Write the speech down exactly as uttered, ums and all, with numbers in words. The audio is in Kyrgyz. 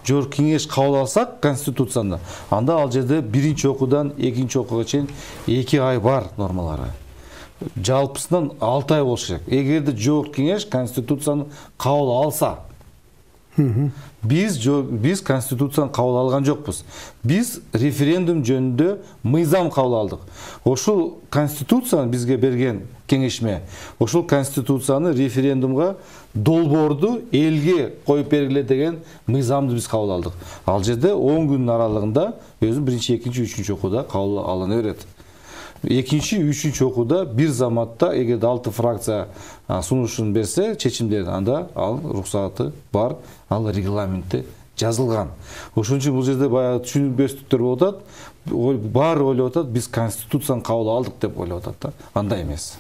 жогорку кеңеш кабыл алсак конституцияны, анда ал жерде биринчи окуудан экинчи окууга чейин эки ай бар нормалары. Жалпысынан алты ай болуш керек. Эгерде жогорку кеңеш конституцияны кабыл алса, биз биз конституцияны кабыл алган жокпуз. Биз референдум жөнүндө мыйзам кабыл алдык. Ошол конституцияны бизге берген кеңешме, ошол конституцияны референдумга долбоорду элге коюп бергиле деген мыйзамды биз кабыл алдык. Ал жерде он күнүн аралыгында өзү биринчи, экинчи, үчүнчү окууда кабыл алына берет. Экинчи, үчүнчү окууда бир заматта эгерде алты фракция сунушун берсе, чечимдерин, анда ал уруксаты бар, ал регламентте жазылган. Ошон үчүн бул жерде баягы түшүнбөстүктөр болуп атат. Баары ойлоп атат, биз конституцияны кабыл алдык деп ойлоп атат да. Андай эмес.